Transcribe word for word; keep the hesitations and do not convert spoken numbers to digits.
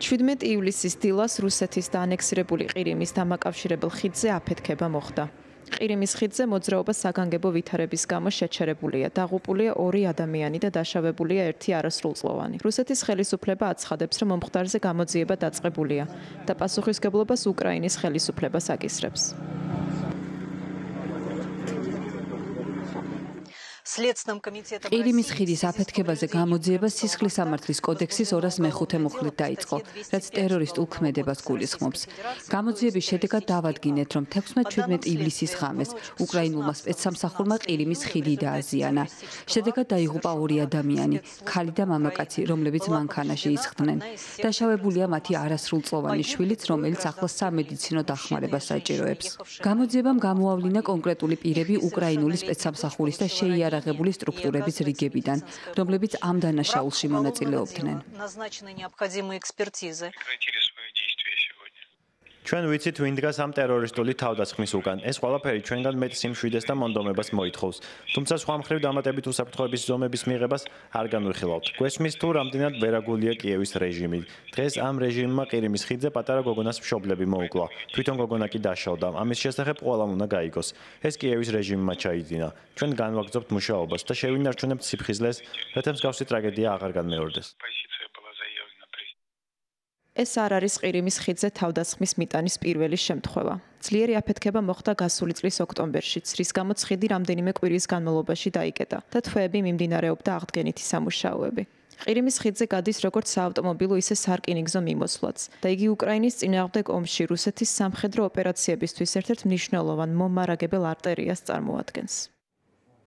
ჩვიდმეტი ივლისის დილას რუსეთის დაანექსირებული ყირიმის დამაკავშირებელ ხიდზე აფეთქება მოხდა. ყირიმის ხიდზე მოძრაობა საგანგებო ვითარების გამო შეჩერებულია. დაღუპულია ორი ადამიანი და დაშავებულია ერთი არასრულწლოვანი. რუსეთის ხელისუფლება აცხადებს, რომ მომხდარზე გამოძიება დაწყებულია და პასუხისგებლობას უკრაინის ხელისუფლებას აკისრებს. ყირიმის ხიდის აფეთქებაზე გამოძიება სისხლის სამართლის კოდექსის ორას მეხუთე მუხლით დაიწყო, რაც ტერორისტულ ქმედებას გულისხმობს. გამოძიების შედეგად დავადგინეთ, რომ თექვსმეტ-შვიდმეტ ივლისის ღამეს უკრაინულმა სპეცსამსახურმა ყირიმის ხიდი დააზიანა. შედეგად დაიღუპა ორი ადამიანი, ქალი და მამაკაცი, რომლებიც მანქანაში ისხდნენ. დაშავებულია მათი არასრულწლოვანი შვილიც, რომელიც ახლა სამედიცინო დახმარებას საჭიროებს. გამოძიებამ გამოავლინა კონკრეტული პირები უკრაინული სპეცსამსახურის და შეიარაღებული სტრუქტურების რიგებიდან, რომლებიც ამ დანაშაულში მონაწილეობდნენ. ჩვენ ვიცით, ვინ დგას ამ ტერორისტული თავდასხმის უკან. ეს ყველაფერი ჩვენგან მეტ სიმშვიდეს და მონდომებას მოითხოვს. თუმცა სხვა მხრივ დამატებით უსაფრთხოების ზომების მიღებას არ განვიხილავთ. გვესმის თუ რამდენად ვერაგულია კიევის რეჟიმი. დღეს ამ რეჟიმმა ყირიმის ხიდზე პატარა გოგონას მშობლები მოუკლა. თვითონ გოგონა კი დაშავდა. ამის შესახებ ყველამ უნდა გაიგოს. ეს კიევის რეჟიმმა ჩაიძინა. ჩვენ განვაგრძობთ მუშაობას და შევინარჩუნებთ სიფხიზლეს, რათა მსგავსი ტრაგედია აღარ განმეორდეს. ეს არ არის ყირიმის ხიდზე თავდასხმის მიტანის პირველი შემთხვევა. ძლიერი აფეთქება მოხდა გასული წლის ოქტომბერშიც, რის გამოც ხიდი რამდენიმე კვირის განმავლობაში დაიკეტა და თვეები მიმდინარეობდა აღდგენითი სამუშაოები. ყირიმის ხიდზე გადის როგორც საავტომობილო, ისე სარკინიგზო მიმოსვლაც და იგი უკრაინის წინააღმდეგ ომში რუსეთის სამხედრო ოპერაციებისთვის ერთ-ერთ მნიშვნელოვან მომარაგებელ არტერიას წარმოადგენს.